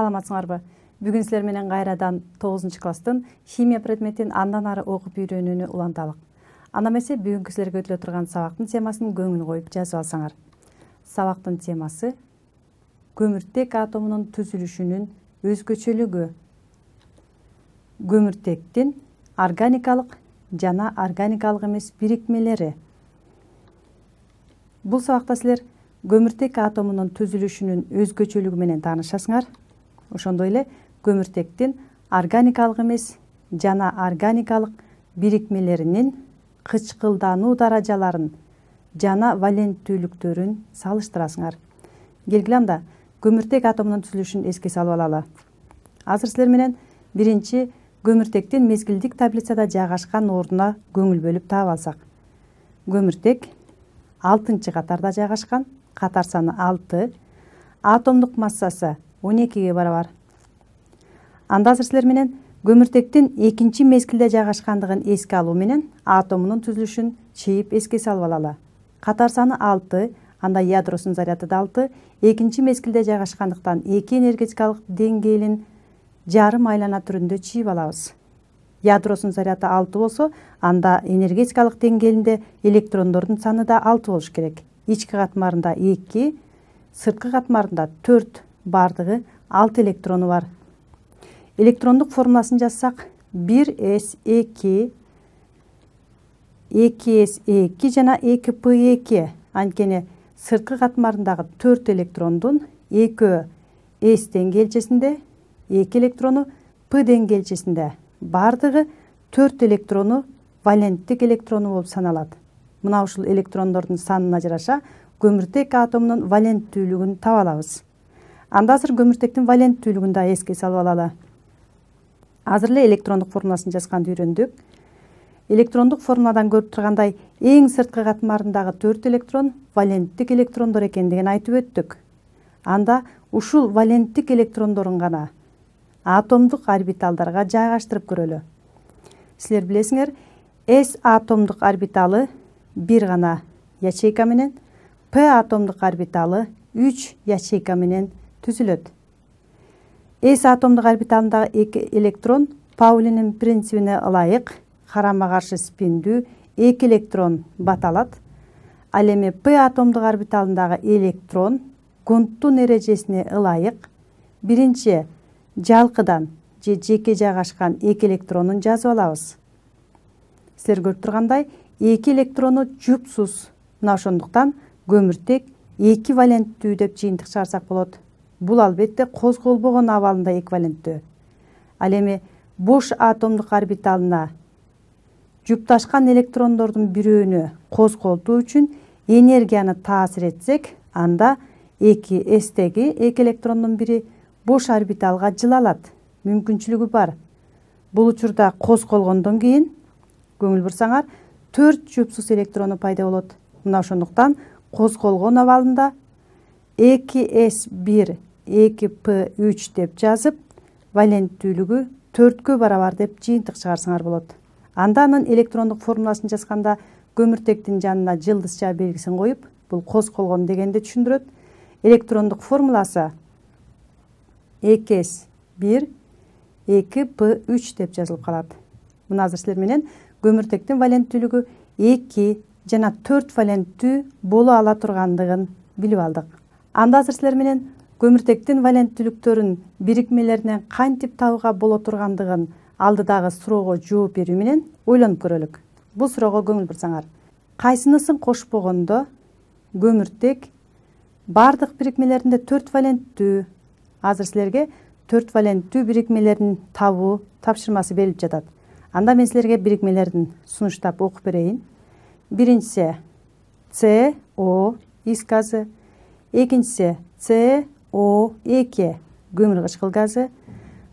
Саламатсыңарбы? Бүгүн силер менен кайрадан 9-класстын химия предметин андан ары окуп үйрөнүүнү уланталык. Анда эмесе бүгүнкү силерге өтүлө турган сабактын темасын көңүл коюп жазып алсаңар. Сабактын темасы көмүртек атомунун түзүлүшүнүн өзгөчөлүгү. Көмүртектин органикалык жана органикалык эмес бирикмелери. Бул сабакта силер көмүртек атомунун түзүлүшүнүн өзгөчөлүгү менен таанышасыңар. Ошондой эле көмүртектин органикалык эмес жана органикалык бирикмелеринин кычкылдануу даражаларын жана валенттүүлүктөрүн салыштырасыңар. Келгиле анда көмүртек атомунун түзүлүшүн эске салып алалы. Азыр силер менен биринчи көмүртектин мезгилдик таблицада жайгашкан ордуна көңүл бөлүп таап алсак. Көмүртек 6-катарда жайгашкан, катар саны 6, атомдук массасы 12-ге барабар. Анда азыр силер менен көмүртектин экинчи мезгилде жайгашкандыгын эске алуу менен атомунун түзүлүшүн чейип эске салып алалы. Катар саны 6, анда ядросунун заряды да 6, экинчи мезгилде жайгашкандыктан эки энергетикалык деңгээлин жарым айлана түрүндө чийип алабыз. Ядросунун заряды 6 болсо, анда энергетикалык деңгээлинде электрондордун саны да 6 болуш керек. Ички катмарында 2, сырткы катмарында 4, бардыгы 6 электрону бар. Электрондук формуласын жазсак, 1s2, 2s2 жана 2p2. Анткени сырткы катмарындагы 4 электрондун 2 s деңгээлчесинде, 2 электрону p деңгээлчесинде, бардыгы 4 электрону валенттик электрону болуп саналат. Мына ушул электрондордун санына жараша көмүртек атомунун валенттүүлүгүн таба алабыз. Анда азыр көмүртектин валенттүүлүгүн да эске салып алалы. Азыр эле электрондук формуласын жазганды үйрөндүк. Электрондук формуладан көрүп тургандай, эң сырткы катмарындагы 4 электрон валенттик электрондор экендигин айтып өттүк. Анда ушул валенттик электрондорун гана атомдук орбиталдарга жайгаштырып көрөлү. Силер билесиңер, S атомдук орбиталы бир гана ячейка менен, P атомдук орбиталы 3 ячейка менен түзүлөт. S атомдук орбиталындагы 2 электрон Паулинин принцибине ылайык карама каршы спиндүү 2 электрон баталат. Ал эми P атомдук орбиталындагы электрон Гундтун эрежесине ылайык биринчи жалкыдан же жеке жайгашкан 2 электронун жазып алабыз. Силер көрүп тургандай, 2 электрону жупсуз. Мына ошондуктан көмүртек 2 валенттүү деп жыйынтык чыгарсак болот. Бул албетте козголбогон абалында эквиваленттүү. Ал эми бош атомдук орбиталына жупташкан электрондордун бирөөнү козголтуу үчүн энергияны таасир этсек, анда 2s-теги 2 электрондун бири бош орбиталга жылалат. Мүмкүнчүлүгү бар. Бул учурда козголгондон кийин көңүл бурсаңар 4 жупсуз электрону пайда болот. Мына ошондуктан козголгон абалында 2s1, 2p3 деп жазып, валенттүүлүгү 4-кө барабар деп жыйынтык чыгарсаңар болот. Анда анын электрондук формуласын жазганда көмүртектин жанына жылдызча белгисин коюп, бул козголгон дегенди түшүндүрөт. Электрондук формуласы 2s1, 2p3 деп жазылып калат. Мына азыр силер менен көмүртектин валенттүүлүгү 2 жана 4 валенттүү боло ала тургандыгын билип алдык. Анда азыр силер менен көмүртектин валенттүүлүктөрүн бирикмелеринен кантип табууга боло тургандыгын алдыдагы суроого жооп берүү менен ойлонуп көрөлүк. Бул суроого көңүл бурсаңар, кайсынысын кошпогондо көмүртек бардык бирикмелеринде 4 валенттүү? Азыр силерге 4 валенттүү бирикмелерин табуу тапшырмасы берилип жатат. Анда мен силерге бирикмелерин сунуштап окуп берейин. Биринчиси CO ис газы, экинчиси CO2 көмүр кычкыл газы,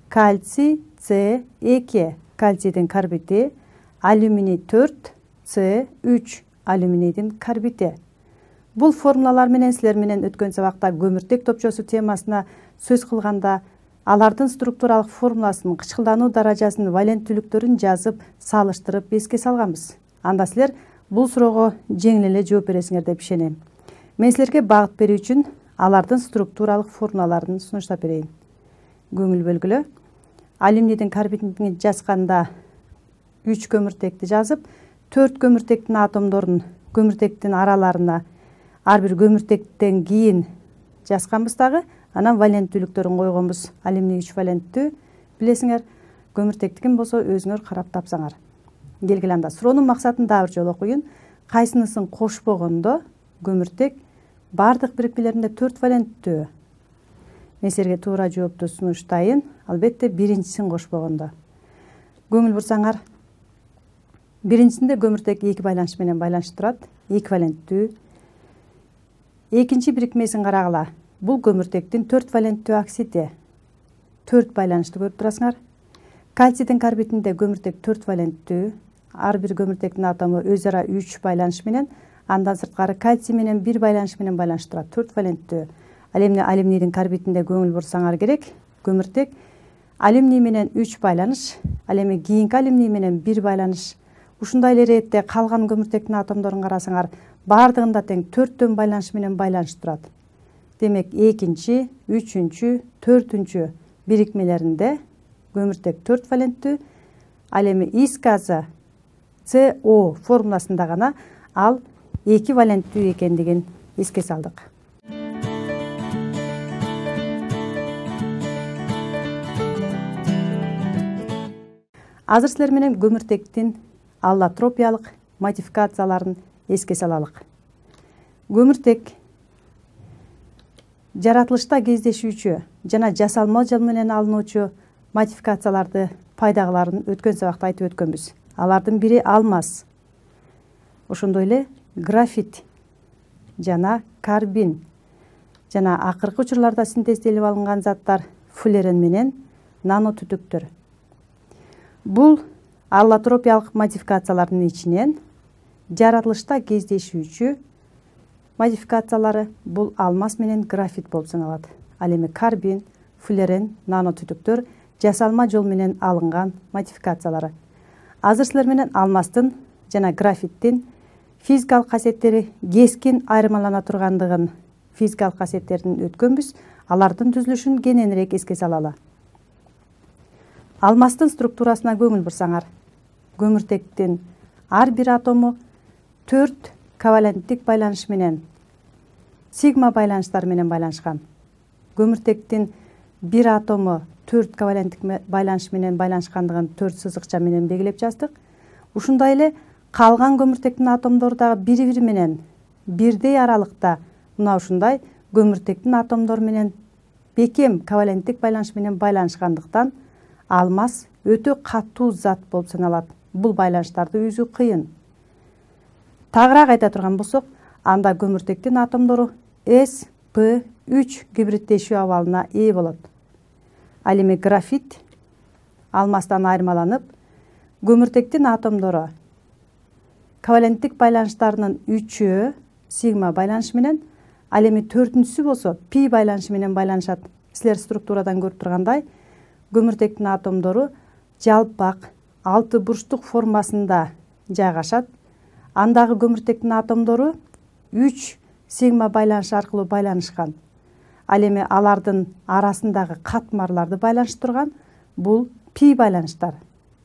кальций C2 кальцийдин карбити, алюминий 4 C3 алюминийдин карбити. Бул формулалар менен силер менен өткөн сабакта көмүртек топчосу темасына сөз кылганда алардын структуралык формуласын, кычкылдануу даражасын, валенттүүлүктөрүн жазып, салыштырып эске салганбыз. Анда силер бул суроого жеңил эле жооп бересиңер деп ишенем. Мен силерге багыт берүү үчүн алардын структуралык формулаларын сунуштап берейин. көңүл бөлгүлө. Алюминдин карбидин жазганда 3 көмүртекти жазып, 4 көмүртектин атомдорун көмүртектин араларына ар бир көмүртектен кийин жазганбыз дагы. Анан валенттүүлүктөрүн койгонбуз. Алюминий 3 валенттүү билесиңер. Көмүртектикин болсо өзүңөр карап тапсаңар. Келгиле анда суроонун максатын дагы бир жолу окуйын. Кайсынысын кошпогондо көмүртек бардык бирикмелеринде 4 валенттүү? Мен силерге туура жоопту сунуштайын. Албетте биринчисин кошпогондо. Көңүл бурсаңар, биринчисинде көмүртек 2 байланыш менен байланышып турат, 2 валенттүү. Экинчи бирикмесин карагыла. Бул көмүртектин 4 валенттүү оксиди. 4 байланышты көрүп турасыңар. Кальцийдин карбидинде көмүртек 4 валенттүү. Ар бир көмүртектин атому өз ара 3 байланыш менен, андан сырткары кальций менен 1 байланыш менен байланыштып турат, 4 валенттүү. Ал эми алюминдин карбидинде көңүл бурсаңар керек, көмүртек алюминий менен 3 байланыш, ал эми кийинки алюминий менен 1 байланыш. Ушундай эле иретте калган көмүртектин атомдорун карасаңар, бардыгында тең 4төн байланыш менен байланышып турат. Демек, экинчи, үчүнчү, төртүнчү бирикмелеринде көмүртек 4 валенттүү. Ал эми ис газы CO формуласында гана ал 2 валенттүү экендигин эске салдык. Азыр силер менен көмүртектин аллотропиялык модификацияларын эске салалык. Көмүртек жаратылышта кездешүүчү жана жасалма жол менен алынуучу модификацияларды пайдагыларын өткөн сабакта айтып өткөнбүз. Алардын бири алмаз. Ошондой эле графит жана карбин жана акыркы учурларда синтезделип алынган заттар флюорен менен нанотүтүктөр. Бул аллотропиялык модификациялардын ичинен жаратылышта кездешүүчү модификациялары бул алмаз менен графит болуп саналат. Ал эми карбин, флюорен, нанотүтүктөр жасалма жол менен алынган модификациялары. Азыр силер менен алмаздын жана графиттин физикалык касиеттери кескин айырмалана тургандыгын, физикалык касиеттерин өткөнбүз. Алардын түзүлүшүн кененирээк эске салалы. Алмаздын структурасына көңүл бурсаңар, көмүртектин ар бир атому 4 коваленттик байланыш менен, сигма байланыштар менен байланышкан. Көмүртектин бир атому 4 коваленттик байланыш менен байланышкандыгын 4 сызыкча менен белгилеп жаздык. Ушундай эле калган көмүртектин атомдору дагы бири-бири менен бирдей аралыкта мына ушундай көмүртектин атомдору менен бекем коваленттик байланыш менен байланышкандыктан алмаз өтө катуу зат болуп саналат. Бул байланыштарды үзүү кыйын. Тагыраак айта турган болсок, анда көмүртектин атомдору sp3 гибриддешүү абалына ээ болот. Ал эми графит алмаздан айырмаланып, көмүртектин атомдору коваленттик байланыштарынын 3-өө сигма байланыш менен, ал эми 4-үнчүсү болсо пи байланышы менен байланышат. Силер структурадан көрүп тургандай, көмүртектин атомдору жалпак 6 бурчтук формасында жайгашат. Андагы көмүртектин атомдору 3 сигма байланыш аркылуу байланышкан. Ал эми алардын арасындагы катмарларды байланыштырган бул пи байланыштар.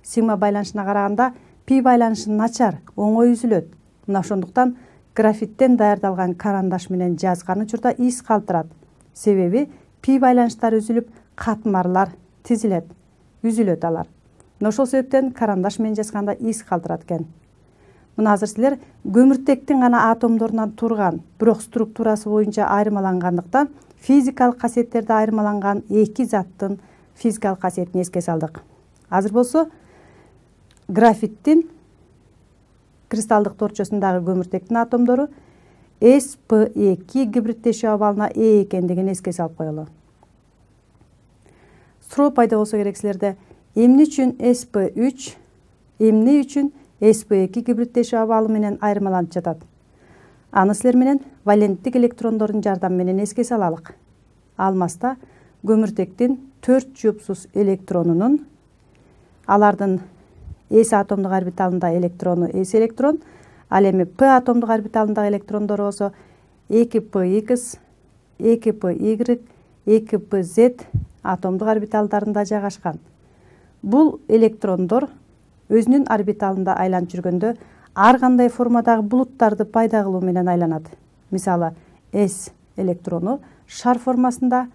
Сигма байланышына караганда пи байланышы начар, оңой үзүлөт. Мына ошондуктан графиттен даярдалган карандаш менен жазган учурда из калтырат. Себеби пи байланыштары үзүлүп, катмарлар тизилет, үзүлөт алар. Мына ошол себептен карандаш менен жазганда из калтырат экен. Мына азыр силер көмүртектин гана атомдорунан турган, бирок структурасы боюнча айырмалангандыктан физикалык касиеттерде айырмаланган эки заттын физикалык касиетин эске салдык. Азыр болсо графиттин кристалдык торчосундагы көмүртектин атомдору sp2 гибриддешүү абалына ээ экендигин эске салып коелу. Суроо пайда болсо керек силерде, эмне үчүн sp3, эмне үчүн sp2 гибриддешүү абалы менен айырмаланып жатат? Аны силер менен валенттик электрондордун жардамы менен эске салалык. Алмазда көмүртектин 4 жупсуз электронунун, алардын S атомдук орбиталында электрону S электрон, ал эми P атомдук орбиталындагы электрондору болсо 2px, 2py, 2pz атомдук орбиталдарында жайгашкан. Бул электрондор өзүнүн орбиталында айланып жүргөндө ар кандай формадагы булуттарды пайда кылуу менен айланат. Мисалы, S электрону шар формасында,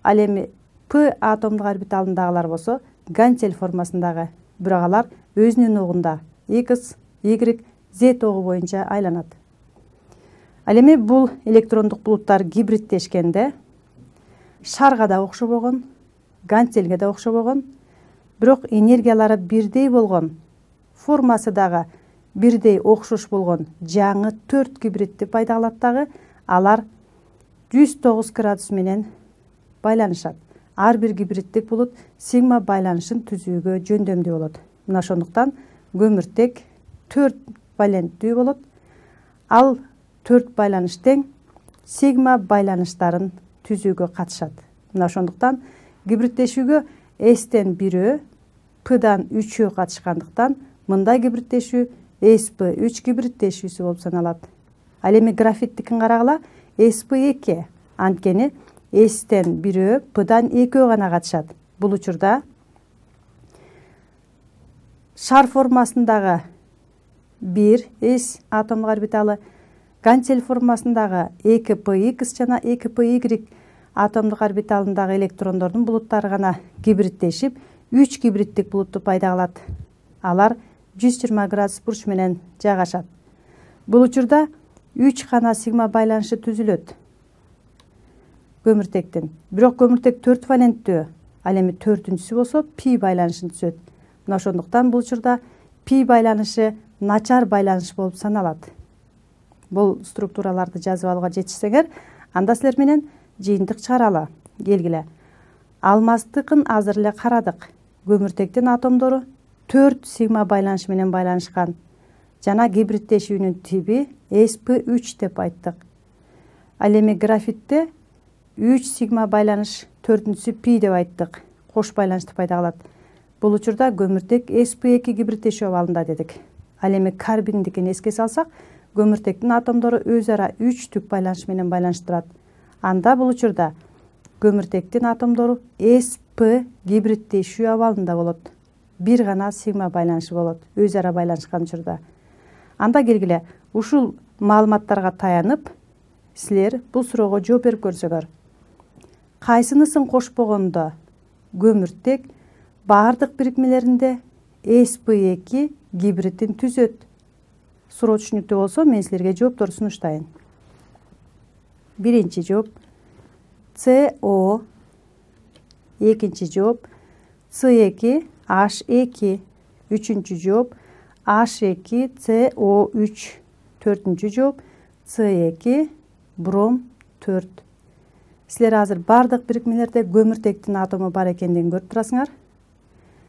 ал эми P атомдук орбиталындагылар болсо гантель формасындагы, бирок алар өзүнүн огунда X, Y, Z огу боюнча айланат. Ал эми бул электрондук булуттар гибридтешкенде шарга да окшобогон, гантельге да окшобогон, бирок энергиялары бирдей болгон, формасы дагы бирдей окшош болгон жаңы 4 гибридти пайда кылат дагы, алар 109 градус менен байланышат. Ар бир гибриддик булут сигма байланышын түзүүгө жөндөмдүү болот. Мына ошондуктан көмүртек 4 валенттүү болот. Ал 4 байланыш тең сигма байланыштарын түзүүгө катышат. Мына ошондуктан гибридтешүүгө S-тен 1-өө, P-дан 3-өө катышкандыктан мындай гибридтешүү sp3 гибридтешүүсү болуп саналат. Ал эми графиттикин карагыла, sp2, анткени S-тен 1-өө, P-дан 2-өө гана катышат. Бул учурда шар формасындагы 1s атомдук орбиталы, гантель формасындагы 2px жана 2py атомдук орбиталындагы электрондордун булуттары гана гибридтешип, 3 гибриддик булутту пайда кылат. Алар 120 градус бурч менен жайгашат. Бул учурда 3 гана сигма байланышы түзүлөт көмүртектин. Бирок көмүртек 4 валенттүү, ал эми 4-үнчүсү болсо пи байланышын түзөт. Мына ошондуктан бул учурда пи байланышы начар байланыш болуп саналат. Бул структураларды жазып алууга жетишсеңер, анда силер менен жыйынтык чыгаралы. Келгиле. Алмастыкын азыр эле карадык. Көмүртектин атомдору 4 сигма байланыш менен байланышкан. Жана гибридтешүүнүн тиби sp3 деп айттык. Ал эми графитте 3 сигма байланыш, 4-үнчүсү пи деп айттык. Кош байланышты пайда кылат. Бул учурда көмүртек sp2 гибридтешүү абалында дедик. Ал эми карбиндикин эске салсак, көмүртектин атомдору өз ара 3 түк байланыш менен байланыштырат. Анда бул учурда көмүртектин атомдору sp гибридтешүү абалында болот. Бир гана сигма байланышы болот, өз ара байланышкан учурда. Анда келгиле, ушул маалыматтарга таянып, силер бул суроого жооп берип көрсөңөр. Кайсынысын кошпогондо көмүртек баардык бирикмелеринде sp2 гибридин түзөт? Суроо түшүнүктүү болсо, мен силерге жоопторду сунуштайын. Биринчи жооп CO, экинчи жооп C2 H2, үчүнчү жооп H2 CO3, төртүнчү жооп C2 бром 4. Силер азыр бардык бирикмелерде көмүртектин атому бар экендигин көрүп турасыңар.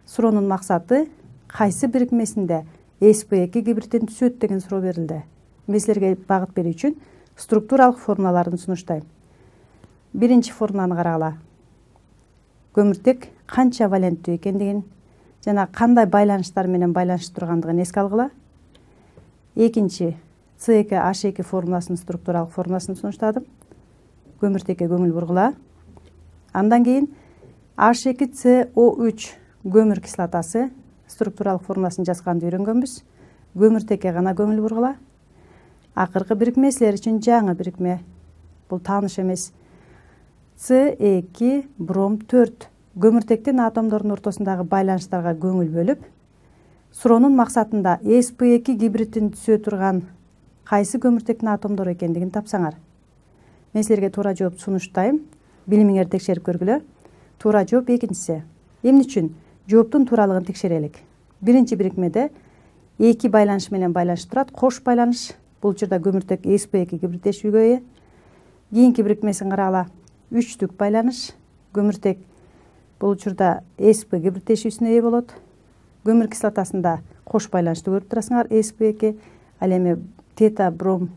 Суроонун максаты кайсы бирикмесинде sp2 гибридин түзөт деген суроо берилди. Мен силерге багыт берүү үчүн структуралык формулаларын сунуштайм. Биринчи формуланы карагыла. Көмүртек канча валенттүү экендигин жана кандай байланыштар менен байланышып тургандыгын эске алгыла. Экинчи C2 H2 формуласынын структуралык формуласын сунуштадым. Көмүртекке көңүл бургула. Андан кийин H2CO3 көмүр кислотасы структуралык формуласын жазганды үйрөнгөнбүз. Көмүртекке гана көңүл бургула. Акыркы бирикме силер үчүн жаңы бирикме. Бул тааныш эмес. C2 бром 4 көмүртектин атомдордун ортосундагы байланыштарга көңүл бөлүп, суроонун максатында sp2 гибридин түзө турган кайсы көмүртектин атомдору экендигин тапсаңар. Мен силерге туура жооп сунуштайм. Билимиңерди текшерип көргүлө. Туура жооп экинчиси. Эмне үчүн? Жооптун тууралыгын текшерелик. Биринчи бирикмеде 2 байланыш менен байланышып турат, кош байланыш. Бул учурда көмүртек sp2 гибридтешүүгө ээ. Кийинки бирикмесин карагыла. 3 түк байланыш. Көмүртек бул учурда sp гибридтешүүсүнө ээ болот. Көмүр кислотасында кош байланышты көрүп турасыңар, sp2. Ал эми тета бром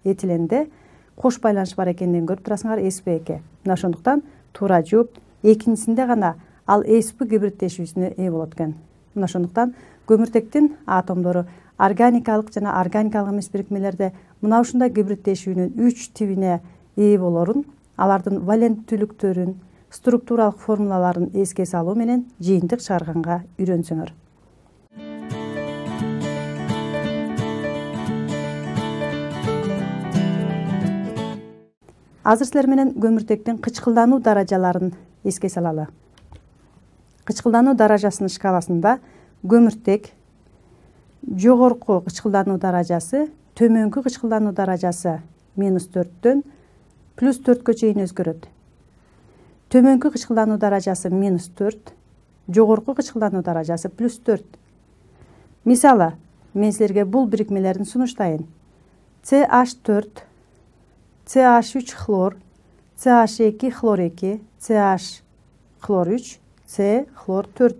этиленде кош байланыш бар экендигин көрүп турасыңар, sp2. Мына ошондуктан туура жооп экинчисинде гана ал sp гибридтешүүсүнө ээ болот экен. Мына ошондуктан көмүртектин атомдору органикалык жана органикалык эмес бирикмелерде мына ушундай гибридтешүүнүн 3 тибине ээ болорун, алардын валенттүүлүктөрүн, структуралык формулаларын эске салуу менен жыйынтык чыгарганга үйрөнсөңөр. Азыр силер менен көмүртектин кычкылдануу даражаларын эске салалы. Кычкылдануу даражасынын шкаласында көмүртек жогорку кычкылдануу даражасы, төмөнкү кычкылдануу даражасы -4дөн +4кө чейин өзгөрөт. Төмөнкү кычкылдануу даражасы -4, жогорку кычкылдануу даражасы +4. Мисалы, мен силерге бул бирикмелерин сунуштайын. CH4, CH3 хлор, CH2 хлор 2, CH хлор 3, C хлор 4.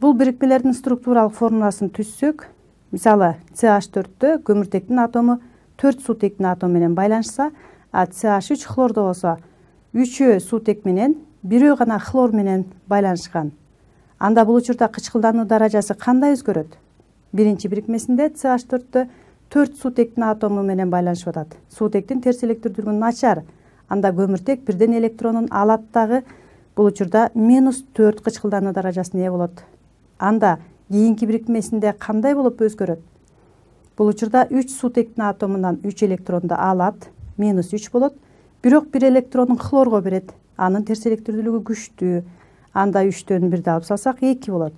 Бул бирикмелердин структуралык формуласын түзсөк, мисалы, CH4дө көмүртектин атому 4 суутектин атому менен байланышса, а CH3 хлордо болсо 3 суутек менен, 1 гана хлор менен байланышкан. Анда бул учурда кычкылдануу даражасы кандай өзгөрөт? Биринчи бирикмесинде CH4дө 4 суутектин атому менен байланышып атат. Суутектин терс электирдүүлүгү начар. Анда көмүртек бирден электронун алат дагы бул учурда -4 кычкылдануу даражасына ээ болот. Анда кийинки бирикмесинде кандай болуп өзгөрөт? Бул учурда 3 суутектин атомунан 3 электронду алат, -3 болот. Бирок 1 электронун хлорго берет. Анын терс электирдүүлүгү күчтүү. Анда 3төн 1 алып салсак 2 болот.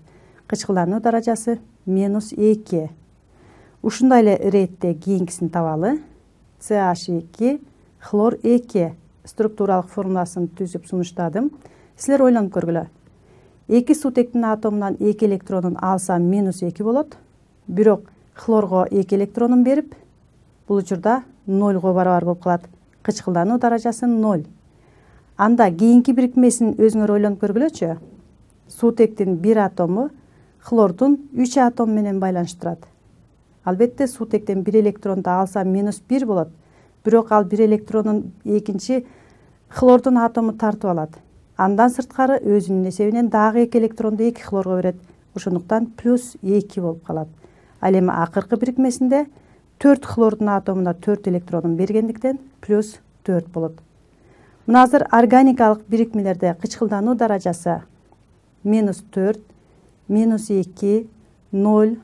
Кычкылдануу даражасы -2. Ушундай эле иретте кийинкисин табалы. CH2 хлор 2 структуралык формуласын түзүп сунуштадым. Силер ойлонуп көргүлө. 2 суутектин атомунан 2 электронун алсам -2 болот. Бирок хлорго 2 электронун берип, бул учурда 0го барабар болуп калат. Кычкылдануу даражасы 0. Анда кийинки бирикмесин өзүңөр ойлонуп көргүлөчү. Суутектин 1 атому хлордун 3 атому менен байланыштырат. Албетте суутектен 1 электронду алсам -1 болот. Бирок ал 1 электронун экинчи хлордун атому тартып алат. Андан сырткары өзүнүн эсебинен дагы 2 электронду 2 хлорго берет. Ошондуктан +2 болуп калат. Ал эми акыркы бирикмесинде 4 хлордун атомуна 4 электронун бергендиктен +4 болот. Мына азыр органикалык бирикмелерде кычкылдануу даражасы -4, -2, 0,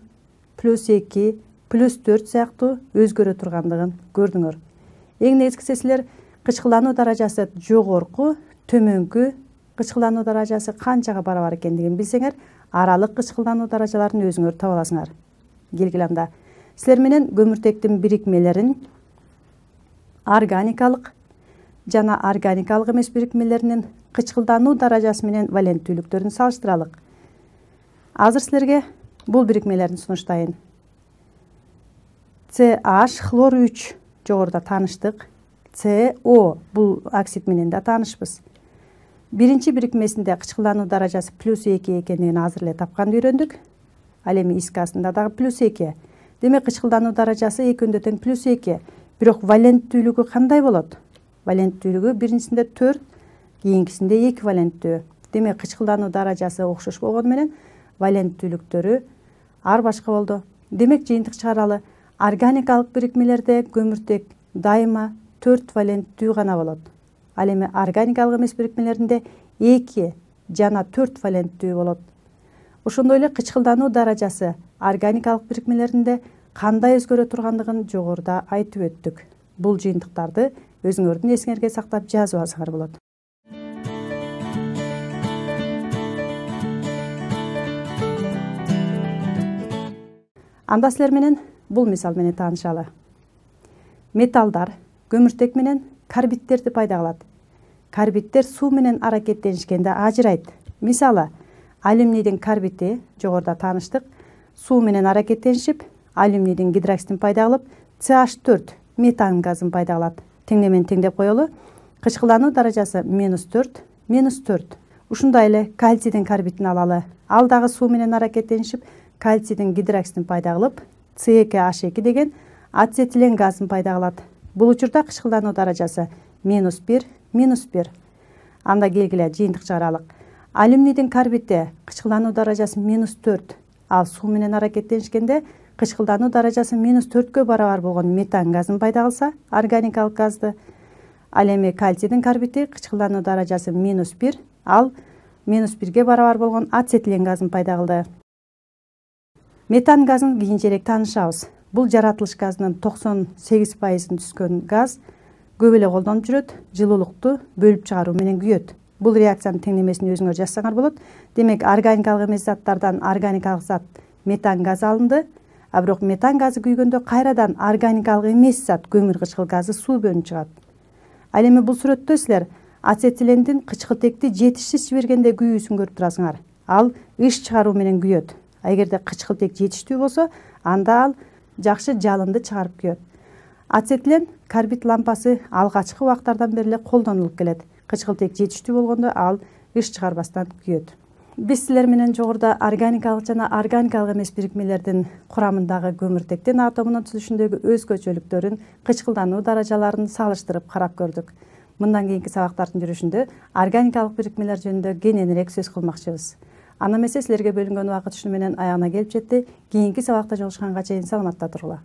+2, +4 сыяктуу өзгөрө тургандыгын көрдүңөр. Эң негизгиси силер кычкылдануу даражасы жогорку, төмөнкү кычкылдануу даражасы канчага барабар экендигин билсеңер, аралык кычкылдануу даражаларын өзүңөр таба аласыңар. Келгиле анда. Силер менен көмүртектин бирикмелерин органикалык жана органикалык эмес бирикмелеринин кычкылдануу даражасы менен валенттүүлүктөрүн салыштыралык. Азыр силерге бул бирикмелерин сунуштайын. CH хлор 3 жогоруда тааныштык. CO бул оксид менен да таанышпыз. Биринчи бирикмесинде кычкылдануу даражасы +2 экендигин азыр эле тапканды үйрөндүк. Ал эми искасында дагы +2. Демек кычкылдануу даражасы экөөндө тең +2. Бирок валенттүүлүгү кандай болот? Валенттүүлүгү биринчисинде 4, кийинкисинде 2 валенттүү. Демек кычкылдануу даражасы окшош болгону менен валенттүүлүктөрү ар башка болду. Демек жыйынтык чыгаралы. Органикалык бирикмелерде көмүртек дайыма 4 валенттүү гана болот. Ал эми органикалык эмес бирикмелеринде 2 жана 4 валенттүү болот. Ошондой эле кычкылдануу даражасы органикалык бирикмелеринде кандай өзгөрө тургандыгын жогоруда айтып өттүк. Бул жыйынтыктарды өзүңөрдүн эсиңерге сактап жазып алсаңар болот. Анда силер менен бул мисал менен таанышалы. Металлдар көмүртек менен карбидтерди пайда кылат. Карбидтер суу менен аракеттенишкенде ажырайт. Мисалы, алюминдин карбиди жогоруда тааныштык. Суу менен аракеттенишип, алюминдин гидроксидин пайда кылып, CH4 метан газын пайда кылат. Теңдемен теңдеп коелу. Кычкылдануу даражасы -4, -4. Ушундай эле кальцийдин карбидин алалы. Ал дагы суу менен аракеттенишип, кальцийдин гидроксидин пайда кылып, C2H2 деген ацетилен газын пайда кылат. Бул учурда кычкылдануу даражасы -1, -1. Анда келгиле жыйынтык чыгаралык. Алюминдин карбиди кычкылдануу даражасы -4. Ал суу менен аракеттенишкенде кычкылдануу даражасы -4кө барабар болгон метан газын пайда кылса, органикалык газды. Ал эми кальцийдин карбити кычкылдануу даражасы -1, ал -1ге барабар болгон ацетилен газын пайда кылды. Метан газын кийинчерээк таанышабыз. Бул жаратылыш газынын 98% түзгөн газ көп эле колдонуп жүрөт, жылуулукту бөлүп чыгаруу менен күйөт. Бул реакциянын теңдемесин өзүңөр жазсаңар болот. Демек, органикалык эмес заттардан органикалык зат метан газы алынды, а бирок метан газы күйгөндө кайрадан органикалык эмес зат көмүр кычкыл газы суу бөлүнүп чыгат. Ал эми бул сүрөттө силер ацетилендин кычкылтекти жетишсиз жибергенде күйүүсүн көрүп турасыңар. Ал ыш чыгаруу менен күйөт. Эгерде кычкылтек жетиштүү болсо, анда ал жакшы жалынды чыгарып күйөт. Ацетилен карбид лампасы алгачкы убактардан бери эле колдонулуп келет. Кычкылтек жетиштүү болгондо ал ыш чыгарбастан күйөт. Биз силер менен жогоруда органикалык жана органикалык эмес бирикмелердин курамындагы көмүртектин атомунун түзүшүндөгү өзгөчөлүктөрүн, кычкылдануу даражаларын салыштырып карап көрдүк. Мындан кийинки сабактардын жүрүшүндө органикалык бирикмелер жөнүндө кененирээк сөз кылмакчыбыз. Аны эмесе силерге бөлүнгөн убакыт ушуну менен аягына келип жетти. Кийинки сабакта жолугушканга чейин саламатта тургула.